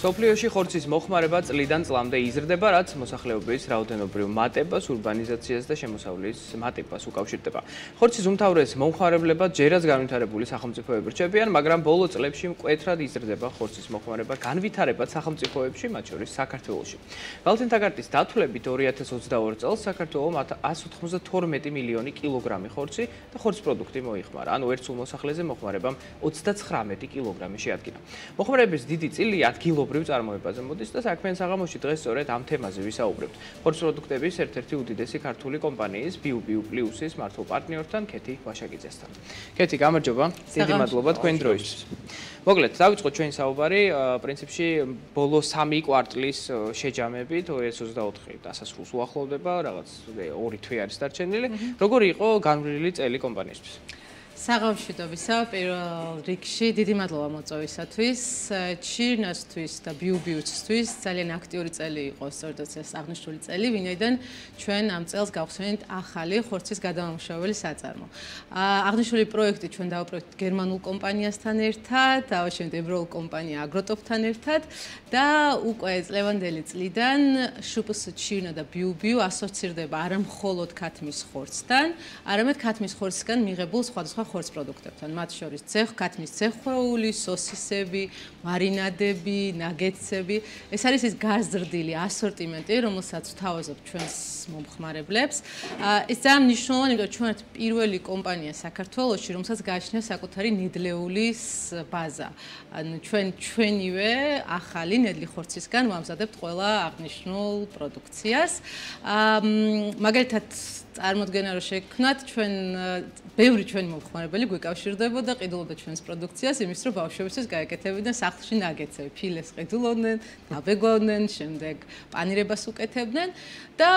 სოფლიოში ხორცის მოხმარება წლიდან წლამდე იზრდება, რაც მოსახლეობის რაოდენობრივ მატებას, ურბანიზაციას და შემოსავლის მატებას უკავშირდება. ხორცის უმთავრეს მომხმარებლებად ჯერაც განვითარებული სახელმწიფოები რჩებიან, მაგრამ ბოლო წლებში მკვეთრად იზრდება ხორცის მოხმარება, განვითარებად სახელმწიფოებში, მათ შორის საქართველოში. ვალენტინ ტაგარტის დათვლებით 2022 წელს საქართველომ 192 მილიონი კილოგრამი ხორცი და ხორცპროდუქტი მოიხმარა, ანუ ერთ სულ მოსახლეზე მოხმარებამ 39 კილოგრამი შეადგინა. მოხმარების დიდი წილი ადგილობრივ წარმოებაზე მოდის და საქმიან საღამოში დღეს სწორედ ამ თემაზე ვისაუბრებთ. ხორცპროდუქტების ერთ-ერთი უდიდესი ქართული კომპანიის BiuBiu+-ის მართულ პარტნიორთან ქეთი ვაშაკიძესთან. ქეთი, გამარჯობა. დიდი მადლობა თქვენი დროისთვის. მოკლედ, დავიწყოთ ჩვენი საუბარი, პრინციპში ბოლო 3 კვარტლის შეჯამებით 2024 დასასრულს უახლოვდება, რაღაც 2 თვე არის დარჩენილი. როგორი იყო განვლილი წელი კომპანიისთვის? საღამოშიდობისა პირველ რიგში დიდი მადლობა მოწვევისათვის, ჩირნასთვის და BiuBiu-ისთვის ძალიან აქტიური წელი იყო, სწორედ ეს აღნიშნული წელი, ვინაიდან ჩვენ ამ წელს გავხსენით ახალი ხორცის გადამამუშავებელი საწარმო. აღნიშნული პროექტი ჩვენ დავაპროექტით გერმანულ კომპანიასთან ერთად, დავაშენეთ ევროპულ კომპანია Agrotop-თან ერთად და უკვე წლევანდელი წლიდან შპს ჩირნა და BiuBiu ასოცირდება არა მხოლოდ ქათმის ხორცთან, არამედ ქათმის ხორცისგან მიღებულ სხვადასხვა ხორცს პროდუქტებთან, მათ შორის ქათმის ცეხვეული, სოსისები, მარინადები, ნაგეტსები. ეს არის ის გაზრდილი ასორტიმენტი, რომელსაც ვთავაზობ ჩვენს მომხმარებლებს. ეს ძალიან მნიშვნელოვანი, იმიტომ რომ ჩვენ ვართ პირველი კომპანია საქართველოში, რომელსაც გააჩნია საკუთარი ნედლეულის ბაზა. ანუ ჩვენივე ახალი ნედლი ხორცისგან ვამზადებთ ყველა აღნიშნულ პროდუქციას. მაგალითად წარმოდგენა რომ შეგქნათ, ბევრი ჩვენი მომხმარებელი გვიკავშირდებოდა, ყიდულობდა ჩვენს პროდუქციას, იმის რომ ბავშვებისთვის გაეკეთებინა სახლში ნაგეტსები, ფილეს ყიდულობდნენ, დაბეგვავდნენ, შემდეგ პანირებას უკეთებდნენ და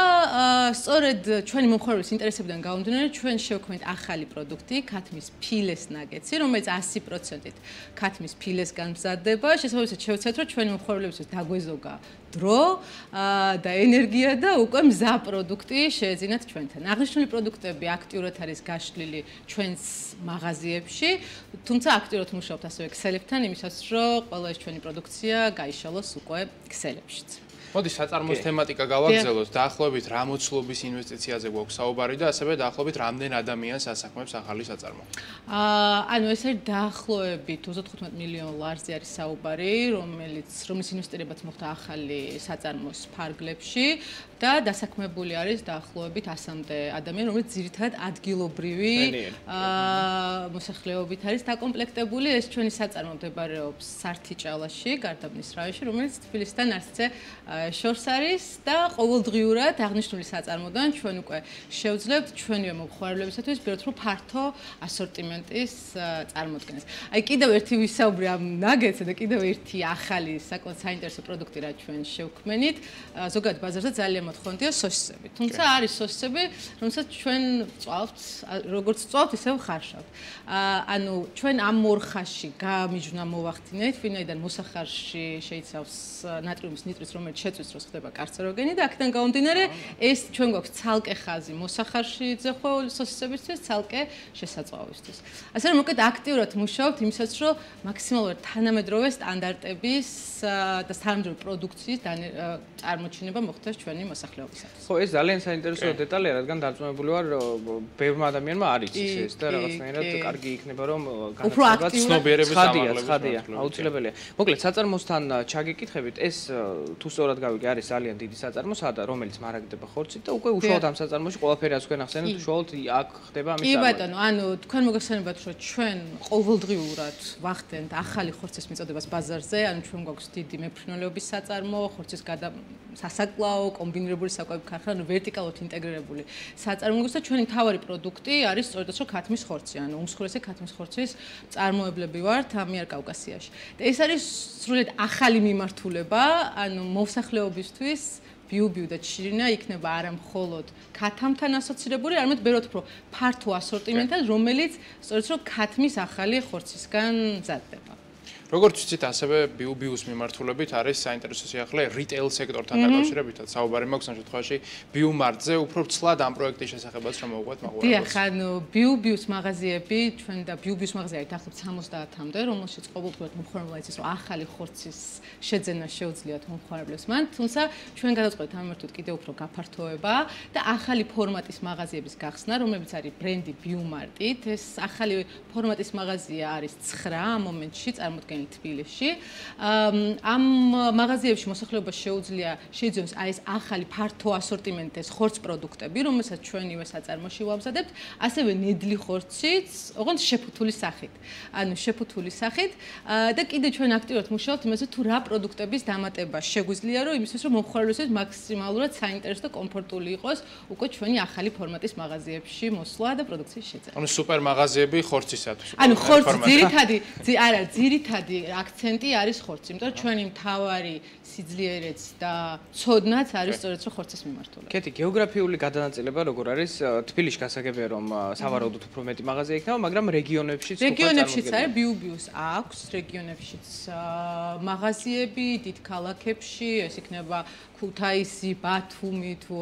სწორედ ჩვენი მომხმარებლის ინტერესებიდან გამომდინარე, ჩვენ შევქმნით ახალი პროდუქტი, ქათმის ფილეს ნაგეტსი, რომელიც 100%-ით ქათმის ფილესგან მზადდება. შესაბამისად, შევცადეთ, რომ ჩვენი მომხმარებლებისთვის დაგვეზოგა დრო და ენერგია და უკვე მზა პროდუქტი შეეძინათ ჩვენთან. აღნიშნული პროდუქტები აქტიურად არის გაშლილი ჩვენს მაღაზიებში, თუმცა აქტიურად მუშაობთ ასევე ქსელებთან, იმისათვის რომ ყველა ეს ჩვენი პროდუქცია გაიშალოს უკვე ქსელებშიც. მოდი საწარმოს თემატიკა გავაგრძელოთ. დაახლოებით რა მოცულობის ინვესტიციაზე გვაქვს საუბარი და ასევე დაახლოებით რამდენ ადამიანს ასაქმებს ახალი საწარმო? ანუ ეს არის დაახლოებით 35 მილიონ ლარზე არის საუბარი, რომელიც ინვესტირებაც მოხდა ახალი საწარმოს ფარგლებში და დასაქმებული არის დაახლოებით 100-მდე ადამიანი, რომელიც ძირითადად ადგილობრივი მოსახლეობით არის დაკომპლექტებული. ეს ჩვენი საწარმო მდებარეობს სართიჭალაში, გარდაბნის რაიონში, რომელიც თბილისთან არცე შორს არის და ყოველდღიურად აღნიშნული საწარმოდან ჩვენ უკვე შევძლებთ ჩვენივე მომხმარებლებისათვის ბიოთრო ფართო ასორტიმენტის წარმოქმნას. აი კიდევ ერთი ვისაუბრე ამ ნაგეტსზე და კიდევ ერთი ახალი საკმაოდ საინტერესო პროდუქტი რა ჩვენ შევქმნით. ზოგადად ბაზარზე ძალიან მოთხოვნადია სოსისები. თუმცა არის სოსისები, რომელსაც ჩვენ წვავთ, როგორც წვავთ, ისევ ხარშავთ. ანუ ჩვენ ამ მორხაში გამიჯვნა მოვახდინეთ, ვინაიდან მოსახარში შეიცავს ნატრიუმის ნიტრის, რომელიც შეწვის დროს ხდება კარცეროგენი და აქედან გამომდინარე ეს ჩვენ გვაქვს ცალკე ხაზი მოსახარში ძეხვეული სოსისებისთვის, ცალკე შესაძლოებისთვის. ასე რომ მოკლედ აქტიურად მუშაობთ იმისათვის, რომ მაქსიმალურად თანამედროვე სტანდარტების და თანამედროვე პროდუქციის წარმოჩინება მოხდეს ჩვენი მოსახლეობისათვის. ხო, ეს ძალიან საინტერესო დეტალია, რადგან დარწმუნებული ვარ, ბევრმა ადამიანმა არ იცის ეს და რაღაცნაირად კარგი იქნება, რომ განაცდება ცნობიერების ამაღლების აუცილებელია. მოკლედ საწარმოსთან ჩაგეკითხებით, ეს თუ სწორად გავიგე, არის ძალიან დიდი საწარმო, რომელიც მარაგდება ხორცით და უკვე უშუალოდ ამ საწარმოში ყველაფერი რაც თქვენ ახსენეთ, უშუალოდ აქ ხდება ამის წარმოება. კი ბატონო, ანუ თქვენ მოგესალმებათ, რომ ჩვენ ყოველდღიურად ვახდენთ ახალი ხორცის მიწოდებას ბაზარზე, ანუ ჩვენ გვაქვს დიდი მეფრინველეობის საწარმო, ხორცის სასაკლაო, კომბინირებული საკვები ქარხანა, ვერტიკალურად ინტეგრირებული საწარმო და ჩვენი მთავარი პროდუქტი არის სწორედ ეს, რომ ქათმის ხორცი, ანუ უმსხვილესი ქათმის ხორცის წარმოებლები ვართ ამიერკავკასიაში. და ეს არის სრულიად ახალი მიმართულება, ანუ მოსახლეობისთვის BiuBiu და ჩირინა იქნება არა მხოლოდ ქათამთან ასოცირებული, არამედ ბევრად უფრო ფართო ასორტიმენტად, რომელიც სწორედ რომ ქათმის ახალი ხორცისგან მზადდება. როგორც ვიცით, ასევე BioBius მიმართულებით არის საინტერესო სიახლე retail სექტორთან დაკავშირებითაც. საუბარი მაქვს ამ შემთხვევაში BioMart-ზე, უფრო ცლად ამ პროექტის შესახებაც რომ მოვუყვეთ მაყურებელს. დიახ, ანუ BioBius მაღაზიები, ჩვენ და BioBius მაღაზია არის დაახლოებით 70-მდე, რომელშიც ყოველდღიურად მომხმარებელმა იცის, რომ ახალი ხორცის შეძენა შეუძლიათ მომხმარებლებს მან, თუმცა ჩვენ გადავწყვეტთ ამ მიმართულებით კიდევ უფრო გაფართოება და ახალი ფორმატის მაღაზიების გახსნა, რომლებიც არის ბრენდი BioMart-ით. ეს ახალი ფორმატის მაღაზია არის 9 ამ მომენტში წარმოდგენილი თბილისში. ამ მაღაზიებში მოსახლეობას შეიძლია აი ეს ახალი ფართო ასორტიმენტის ხორც პროდუქტები, რომელსაც ჩვენივე საწარმოში ვამზადებთ, ასევე ნედლი ხორციც, ოღონდ შეფუთული სახით. ანუ შეფუთული სახით და კიდე ჩვენ აქტიურად მუშაობთ იმაზე თუ რა პროდუქტების დამატება შეგვიძლია, რომ იმისთვის რომ მომხმარებელს მაქსიმალურად საინტერესო და კომფორტული იყოს უკვე ჩვენი ახალი ფორმატის მაღაზიებში მოსვლა და პროდუქციის შეძენა. ანუ სუპერ მაღაზიები ხორცისათვის. ანუ ხორცი ძირითადი აქცენტი არის ხორცი, იმიტომ რომ ჩვენი მთავარი სიძლიერეც და ცოდნაც არის სწორედ ხორცის მიმართულებით. კეთი, გეოგრაფიული გადანაწილება როგორ არის? თბილისში გასაგებია რომ სავარაუდოდ უფრო მეტი მაღაზია იქნება, მაგრამ რეგიონებშიც რეგიონებშიც არის BioBius აქვს რეგიონებშიც მაღაზიები, დიდ ქალაქებში, ეს იქნება ქუთაისი, ბათუმი თუ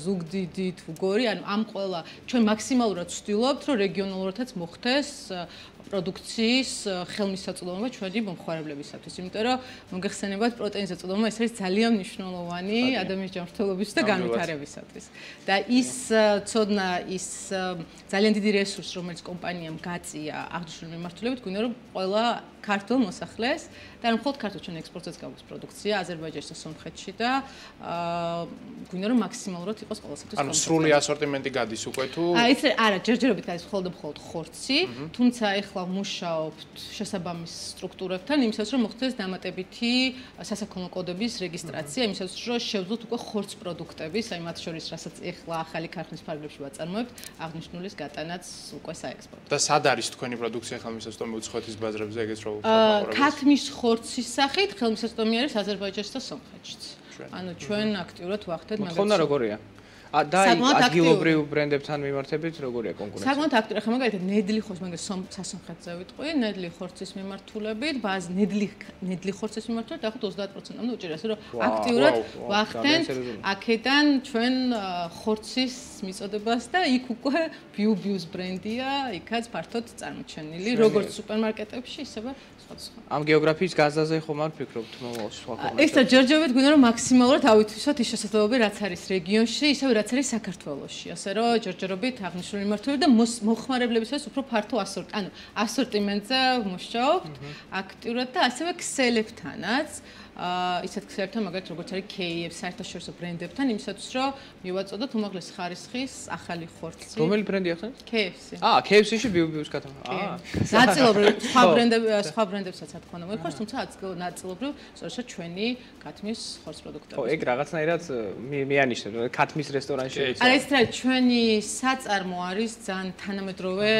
ზუგდიდი თუ გორი, ანუ ამ ყველა ჩვენ მაქსიმალურად ვცდილობთ, რომ რეგიონალურადაც მოხდეს პროდუქციის ხელმისაწვდომობა ჩვენი მომხმარებლებისათვის, იმიტომ რომ მოგეხსენებათ პროტეინის აწვდომობა ეს არის ძალიან მნიშვნელოვანი ადამიანის ჯანმრთელობისთვის და განვითარებისათვის. და ის ცოდნა, ის ძალიან დიდი რესურსი, რომელიც კომპანიამ გაწია აღნიშნული მიმართულებით, გვინდა რომ ყველა ქართულ მოსახლეს და მხოლოდ ქართულ ჩვენ ექსპორტსაც გაქვს პროდუქცია აზერბაიჯანში და სომხეთში და გვინდა რომ მაქსიმალურად იყოს ყველასათვის ანუ სრული ასორტიმენტი გადის უკვე თუ არა, ჯერჯერობით გადის მხოლოდ ხორცი, თუმცა ეხლა მუშაობთ შესაბამის სტრუქტურებთან იმისათვის რომ მოხდეს დამატებითი სასაქონლო კოდების რეგისტრაცია, იმისათვის რომ შევძლოთ უკვე ხორც პროდუქტების, აი მათ შორის რასაც ეხლა ახალი ქარხნის ფარგლებში ვაწარმოებთ, აღნიშნულის გატანაც უკვე საექსპორტო. და სად არის თქვენი პროდუქცია ხელმისაწვდომი უცხოეთის ბაზრებზე ეგეც რო ქათმის ხორცის სახით ხელმისაწვდომი არის აზერბაიჯანში და სომხეთშიც. ანუ ჩვენ აქტიურად ვახდეთ მაგას. მოთხოვნა როგორია? და ადგილობრივ ბრენდებთან მიმართებით როგორია კონკურენცია? საკმაოდ აქტიური. ახლა მაგალითად ნედლი ხორცს მაგას სასონხეთზე ვიტყვი, ნედლი ხორცის მიმართულებით, ნედლი ხორცის მიმართულებით ახლა 30%-მდე უჭირავს, რომ აქტიურად ვახდენთ აქედან ჩვენ ხორცის მიწოდებას და იქ უკვე BioBius ბრენდია, იქაც ფართოდ წარმოჩენილი, როგორც სუპერმარკეტებში, ისევე სხვადასხვა. ამ გეოგრაფიის გაზაზე ხომ არ ფიქრობთ მომავალში სხვა ქვეყნებში? ეს ჯერჯერობით გვინდა რომ მაქსიმალურად ავითვისოთ ის შესაძლებლობები, რაც არის რეგიონში, ისევე რაც არის საქართველოში, ასე რომ ჯერჯერობით აღნიშნული მიმართულებით და მომხმარებლებისთვის უფრო ფართო ასორტიმენტზე მუშაობთ აქტიურად და ასევე ქსელებთანაც. ისეთ ქსელებთან მაგალითად როგორც არის KFC საერთაშორისო ბრენდებთან იმისათვის რომ მივაწოდოთ უმაღლესი ხარისხის ახალი ხორცი. რომელი ბრენდი ახსენეთ? KFC. KFC-ში BioBius კატალოგი. ნაწილობრივ სხვა ბრენდებსაც რა თქმა უნდა მოიხარს, თუმცა ნაწილობრივ სწორედ ჩვენი ქათმის ხორც პროდუქტები. ხო, ეგ რაღაცნაირად მეანიშნებ, ქათმის რესტორანში. არა, ეს რა ჩვენი საწარმო არის ძალიან თანამედროვე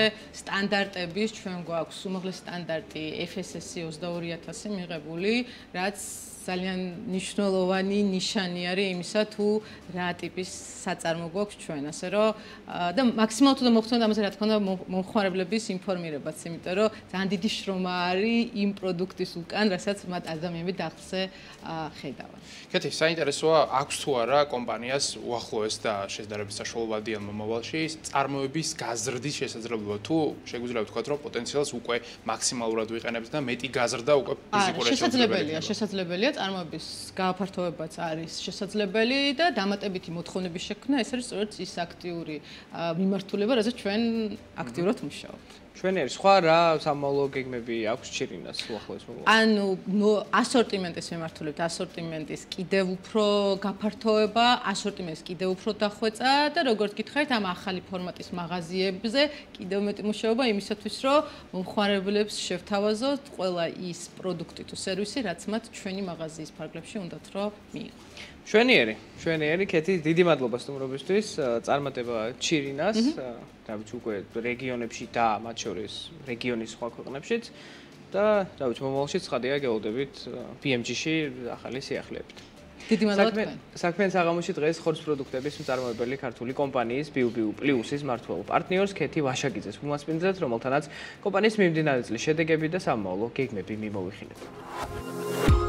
სტანდარტების, ჩვენ გვაქვს უმაღლესი სტანდარტი FSSC 22000 მიღებული, რაც ძალიან მნიშვნელოვანი ნიშანი არის იმისა თუ რა ტიპის საწარმო გვაქვს ჩვენ, ასე რომ და მაქსიმალურად უნდა მოხდეთ ამაზე რა თქმა უნდა მომხმარებლების ინფორმირებაც, იმიტომ რომ ძალიან დიდი შრომა არის იმ პროდუქტის უკან, რასაც მათ ადამიანები დახლზე ხედავენ. კეთი, საინტერესოა, აქვს თუ არა კომპანიას უახლოეს და შედარებით საშუალებადიან მომავალში წარმოების გაზრდის შესაძლებლობა, თუ შეგვიძლია ვთქვათ, რომ პოტენციალს უკვე მაქსიმალურად ვიყენებთ და მეტი გაზრდა უკვე ფიზიკურად შესაძლებელია წარმოების გააფართოვებაც არის შესაძლებელი და დამატებითი მოთხოვნების შექმნა ეს არის სწორედ ის აქტიური მიმართულება, რაზეც ჩვენ აქტიურად მუშაობთ. ჩვენი არის სხვა რა სამომავლო გეგმები აქვს ჩირინას უახლოეს მომავალში? ანუ ასორტიმენტის მიმართულებით, ასორტიმენტის კიდევ უფრო გაფართოება, ასორტიმენტის კიდევ უფრო დახვეწა და როგორც გითხარით, ამ ახალი ფორმატის მაღაზიებზე კიდევ მეტი მუშაობა იმისათვის, რომ მომხმარებლებს შევთავაზოთ ყველა ის პროდუქტი თუ სერვისი, რაც მათ ჩვენი მაღაზიის ფარგლებში უნდათ რომ მიიღო. ჩვენიერი კეთი, დიდი მადლობა სტუმრობისთვის, წარმატება ჩირინას, რა ვიცი უკვე რეგიონებში და მათ შორის რეგიონის სხვა ქვეყნებშიც და რა ვიცი მომავალში ცხადია გეულდებით BMG-ში ახალი სიახლეებით. დიდი მადლობა თქვენ. საქმიან საღამოში დღეს ხორცს პროდუქტების მწარმოებელი ქართული კომპანიის BiuBiu Plus-ის მმართველ პარტნიორს ქეთი ვაშაკიძეს ვუმასპინძლეთ, რომელთანაც კომპანიის მიმდინარე წლის შედეგები და სამომავლო გეგმები მიმოვიხილეთ.